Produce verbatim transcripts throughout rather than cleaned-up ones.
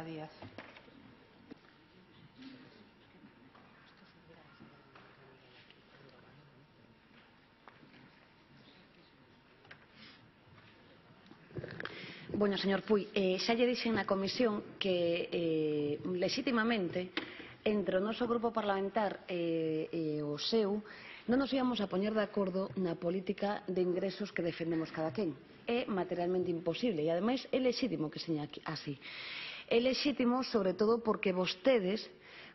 Díaz. Bueno, señor Puy, eh, xa lle dixen na comisión que eh, legitimamente entre o noso grupo parlamentar e, e o seu non nos íamos a poñer de acordo na política de ingresos que defendemos cada quen. É materialmente imposible e, ademais, é lexítimo que seña así. É lexítimo, sobre todo, porque vostedes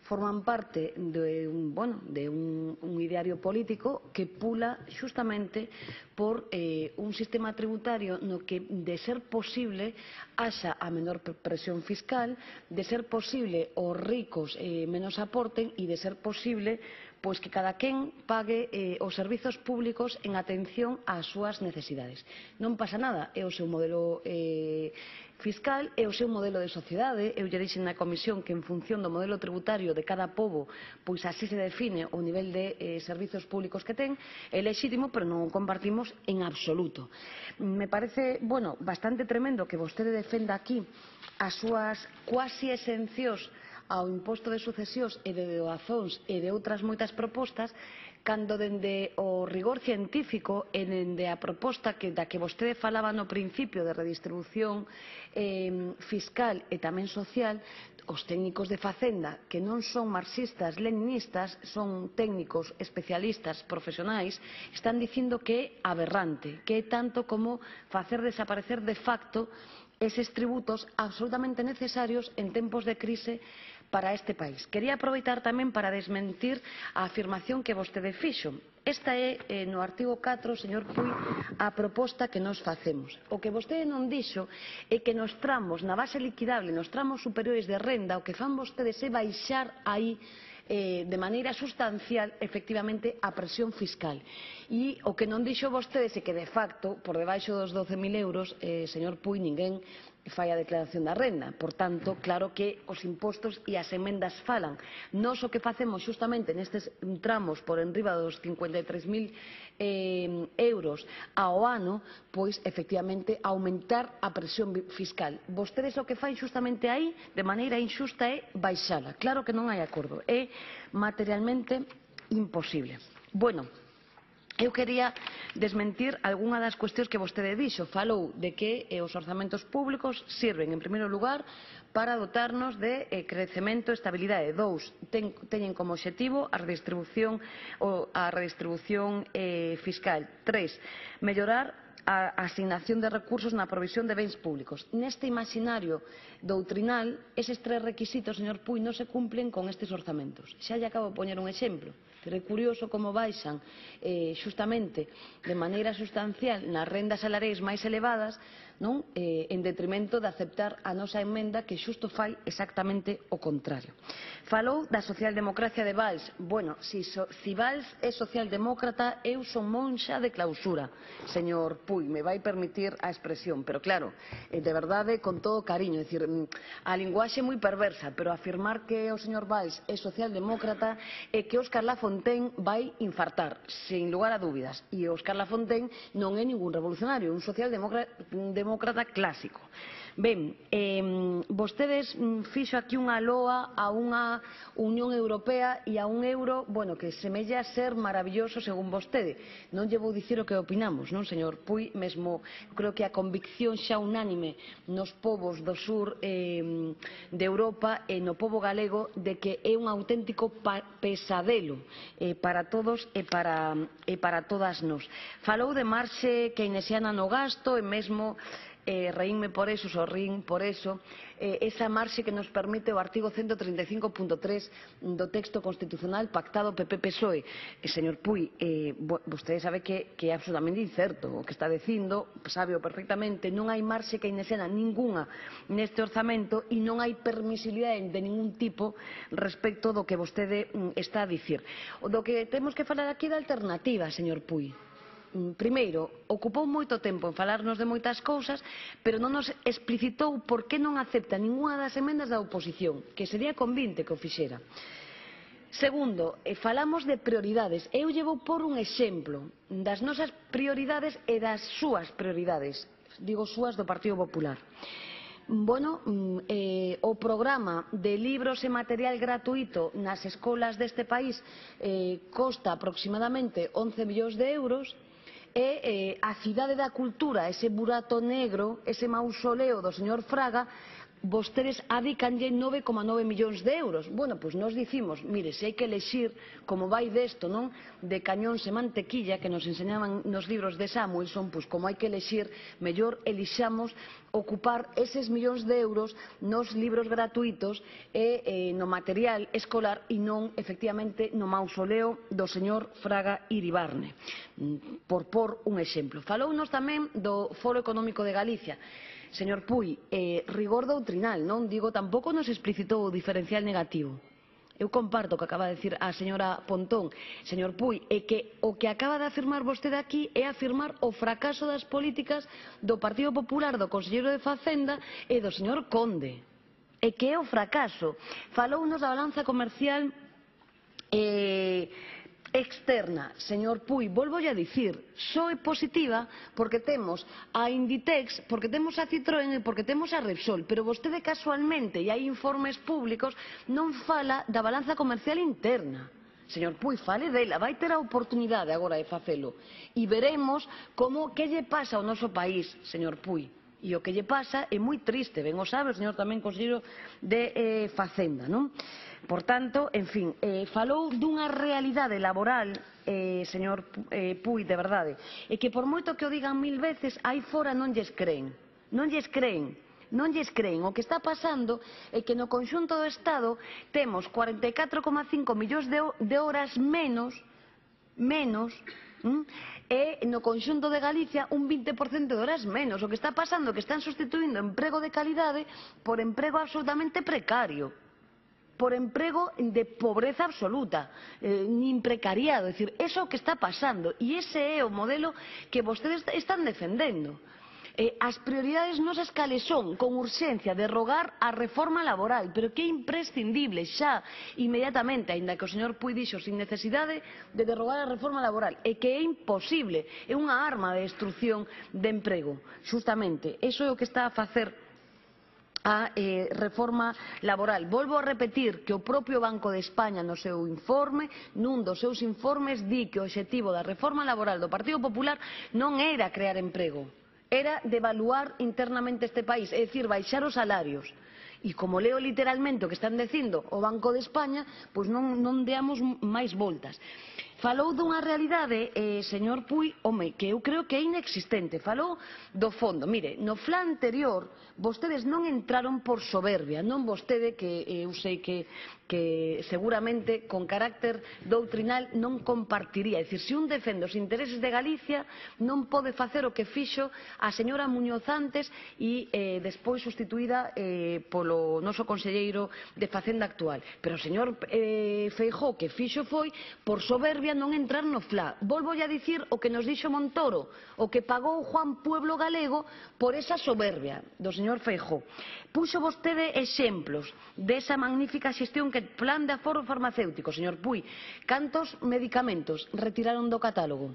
forman parte de un, bueno, de un, un ideario político que pula xustamente por eh, un sistema tributario no que, de ser posible, haxa a menor presión fiscal, de ser posible os ricos eh, menos aporten e de ser posible pois que cada quen pague eh, os servizos públicos en atención ás súas necesidades. Non pasa nada, é o seu modelo eh, fiscal, é o seu modelo de sociedade. Eu lle dixen na comisión que en función do modelo tributario de cada pobo, pois así se define o nivel de eh, servizos públicos que ten. É lexítimo, pero non o compartimos en absoluto. Me parece, bueno, bastante tremendo que vostede defenda aquí as súas cuasi exencións ao imposto de sucesións e de doazóns e de outras moitas propostas, cando dende o rigor científico e dende a proposta que, da que vostede falaba no principio de redistribución eh, fiscal e tamén social, os técnicos de Facenda, que non son marxistas, leninistas, son técnicos especialistas profesionais, están dicindo que é aberrante, que é tanto como facer desaparecer de facto eses tributos absolutamente necesarios en tempos de crise para este país. Quería aproveitar tamén para desmentir a afirmación que vostede fixo. Esta é, eh, no artigo catro, señor Puy, a proposta que nos facemos. O que vostede non dixo é que nos tramos, na base liquidable, nos tramos superiores de renda, o que fan vostedes é baixar aí eh, de maneira sustancial, efectivamente, a presión fiscal. E o que non dixo vostedes é que, de facto, por debaixo dos doce mil euros, eh, señor Puy, ninguén fai a declaración da renda. Por tanto, claro que os impostos e as emendas falan. Nós o que facemos xustamente nestes tramos por enriba dos cincuenta e tres mil eh, euros ao ano, pois, efectivamente, aumentar a presión fiscal. Vostedes o que fai xustamente aí, de maneira injusta, é baixala. Claro que non hai acordo. É materialmente imposible. Bueno, eu quería desmentir algunha das cuestións que vostede dixo. Falou de que eh, os orzamentos públicos sirven, en primeiro lugar, para dotarnos de eh, crecemento e estabilidade. Dous, ten, teñen como obxectivo a redistribución, o, a redistribución eh, fiscal. Tres, mellorar a asignación de recursos na provisión de bens públicos. Neste imaginario doutrinal, eses tres requisitos, señor Puy, non se cumplen con estes orzamentos. Xa lle acabo de poñer un exemplo. Pero é curioso como baixan eh, xustamente de maneira sustancial nas rendas salariais máis elevadas, non? Eh, en detrimento de aceptar a nosa emenda que xusto fai exactamente o contrario. Falou da socialdemocracia de Valls. Bueno, si, so, si Valls é socialdemócrata, eu son monxa de clausura, señor Puy, me vai permitir a expresión, pero claro, eh, de verdade, con todo cariño, é dicir, a linguaxe moi perversa, pero afirmar que o señor Valls é socialdemócrata é que Óscar Lafontaine vai infartar, sin lugar a dúbidas, e Óscar Lafontaine non é ningún revolucionario, un socialdemócrata clásico. Ben, eh, vostedes fixo aquí unha loa a unha Unión Europea e a un euro, bueno, que semella ser maravilloso según vostede. Non lle vou dicir o que opinamos, non, señor Puy? Mesmo creo que a convicción xa unánime nos povos do sur eh, de Europa e no pobo galego de que é un auténtico pesadelo eh, para todos e para, e para todas nós. Falou de marxe keynesiana no gasto e mesmo Eh, reínme por eso, sorrín por eso, eh, esa marxe que nos permite o artigo ciento treinta e cinco punto tres do texto constitucional pactado P P P S O E. Eh, señor Puy, eh, vostede sabe que, que é absolutamente incerto o que está dicindo, sabe-o perfectamente, non hai marxe keynesiana ninguna neste orzamento e non hai permisibilidade de ningún tipo respecto do que vostede mm, está a dicir. O do que temos que falar aquí da alternativa, señor Puy. Primeiro, ocupou moito tempo en falarnos de moitas cousas, pero non nos explicitou por que non acepta ningunha das emendas da oposición, que sería convinte que o fixera. Segundo, falamos de prioridades. Eu lle vou por un exemplo das nosas prioridades e das súas prioridades, digo súas do Partido Popular. bueno, eh, o programa de libros e material gratuito nas escolas deste país eh, costa aproximadamente once millóns de euros, e eh, a Cidade da Cultura, ese burato negro, ese mausoleo do señor Fraga, vostedes adicanlle nove coma nove millóns de euros. Bueno, pois nos dicimos, mire, se hai que elexir, como vai desto, non? De cañóns e mantequilla, que nos enseñaban nos libros de Samuelson, pois como hai que elexir, mellor elixamos ocupar eses millóns de euros nos libros gratuitos e eh, no material escolar e non, efectivamente, no mausoleo do señor Fraga Iribarne. Por por un exemplo. Falounos tamén do Foro Económico de Galicia. Señor Puy, eh, rigor doutrinal, non? Digo, tampouco nos explicitou o diferencial negativo. Eu comparto o que acaba de dicir a señora Pontón, señor Puy, e que o que acaba de afirmar vostede aquí é afirmar o fracaso das políticas do Partido Popular, do conselleiro de Facenda e do señor Conde. E que é o fracaso. Falounos da balanza comercial eh, externa. Señor Puy, volvo a dicir, só é positiva porque temos a Inditex, porque temos a Citroën e porque temos a Repsol, pero vostede casualmente, e hai informes públicos, non fala da balanza comercial interna. Señor Puy, fale dela, vai ter a oportunidade agora de facelo. E veremos como que lle pasa ao noso país, señor Puy. E o que lle pasa é moi triste, ben o sabe o señor tamén conselleiro de eh, Facenda, non? Por tanto, en fin, eh, falou dunha realidade laboral, eh, señor eh, Puy, de verdade, e que por moito que o digan mil veces, aí fora non lles creen, non lles creen, non lles creen. O que está pasando é que no conxunto do Estado temos cuarenta e catro coma cinco millóns de, de horas menos, menos, ¿Mm? e no conxunto de Galicia un vinte por cento de horas menos. O que está pasando é que están sustituindo emprego de calidade por emprego absolutamente precario, por emprego de pobreza absoluta, eh, nin precariado. É dicir, eso é o que está pasando e ese é o modelo que vostedes están defendendo. Eh, as prioridades nosas cales son, con urxencia, derrogar a reforma laboral, pero que é imprescindible xa, inmediatamente, aínda que o señor Puy dixo sin necesidade de derrogar a reforma laboral, e que é imposible, é unha arma de destrucción de emprego. Justamente, iso é o que está a facer a eh, reforma laboral. Volvo a repetir que o propio Banco de España no seu informe, nun dos seus informes, di que o obxectivo da reforma laboral do Partido Popular non era crear emprego, era devaluar internamente este país, é dicir, baixar os salarios. E como leo literalmente o que están dicindo o Banco de España, pois non, non deamos máis voltas. Falou dunha realidade, eh, señor Puy, home, que eu creo que é inexistente. Falou do fondo. Mire, no plan anterior, vostedes non entraron por soberbia, non vostede, que eu sei que, que seguramente con carácter doutrinal non compartiría. É dicir, se un defende os intereses de Galicia, non pode facer o que fixo a señora Muñoz antes e eh, despois sustituída eh, polo noso conselleiro de Facenda actual. Pero o señor eh, Feijóo, que fixo foi por soberbia non entrar no F L A. Volvo a dicir o que nos dixo Montoro, o que pagou Juan Pueblo Galego por esa soberbia do señor Feijóo. Puxo vostede exemplos desa magnífica xestión que plan de aforo farmacéutico, señor Puy. Cantos medicamentos retiraron do catálogo?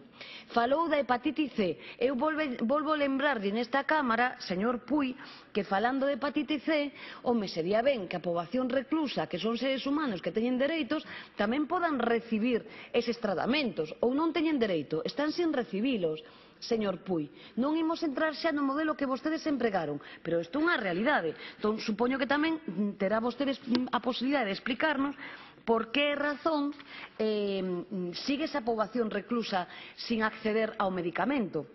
Falou da hepatite C. Eu volve, volvo a lembrarlle nesta Cámara, señor Puy, que falando de hepatite C, home, sería ben que a poboación reclusa, que son seres humanos que teñen dereitos, tamén podan recibir eses tratamentos, ou non teñen dereito, están sin recibilos. Señor Puy, non imos entrar xa no modelo que vostedes empregaron, pero isto é unha realidade. Entón, supoño que tamén terá vostedes a posibilidade de explicarnos por que razón eh, sigue esa poboación reclusa sin acceder ao medicamento.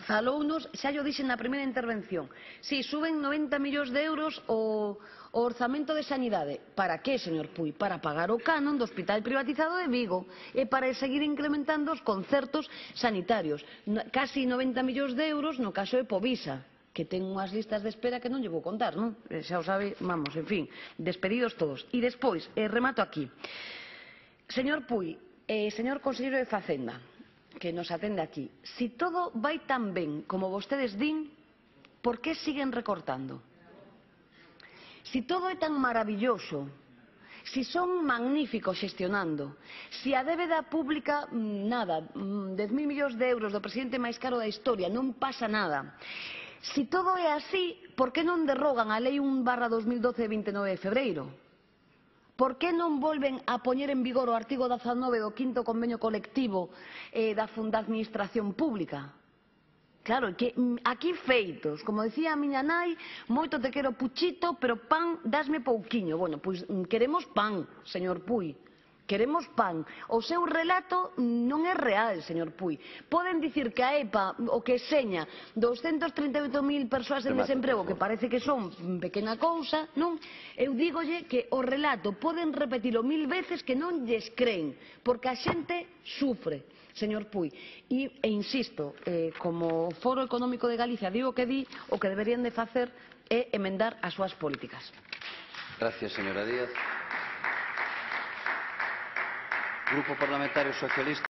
Falounos, xa yo dixen na primeira intervención, si suben noventa millóns de euros o, o orzamento de sanidade. Para que, señor Puy? Para pagar o canon do hospital privatizado de Vigo e para seguir incrementando os concertos sanitarios. Casi noventa millóns de euros no caso de Povisa, que ten unhas listas de espera que non lle vou contar, non? Xa o sabe, vamos, en fin, despedidos todos. E despois, eh, remato aquí. Señor Puy, eh, señor conselleiro de Facenda, que nos atende aquí, si todo vai tan ben como vostedes din, por que siguen recortando? Si todo é tan maravilloso, si son magníficos xestionando, si a débeda pública, nada, dez mil millóns de euros do presidente máis caro da historia, non pasa nada, Si todo é así, por que non derrogan a Lei un barra dos mil doce de vinte e nove de febreiro? Por que non volven a poñer en vigor o artigo dezanove do quinto convenio colectivo eh, da, da Administración Pública? Claro, que aquí feitos, como decía a miña nai, moito te quero Puchito, pero pan dasme pouquiño. Bueno, pois queremos pan, señor Pui. Queremos pan. O seu relato non é real, señor Pui. Poden dicir que a E P A, o que seña, doscientas trinta e oito mil persoas en desemprego, que parece que son pequena cousa, non? Eu dígolle que o relato poden repetilo mil veces que non lles creen, porque a xente sufre, señor Pui. E, e insisto, eh, como Foro Económico de Galicia digo que di, o que deberían de facer é emendar as súas políticas. Gracias, señora Díaz. Grupo Parlamentario Socialista.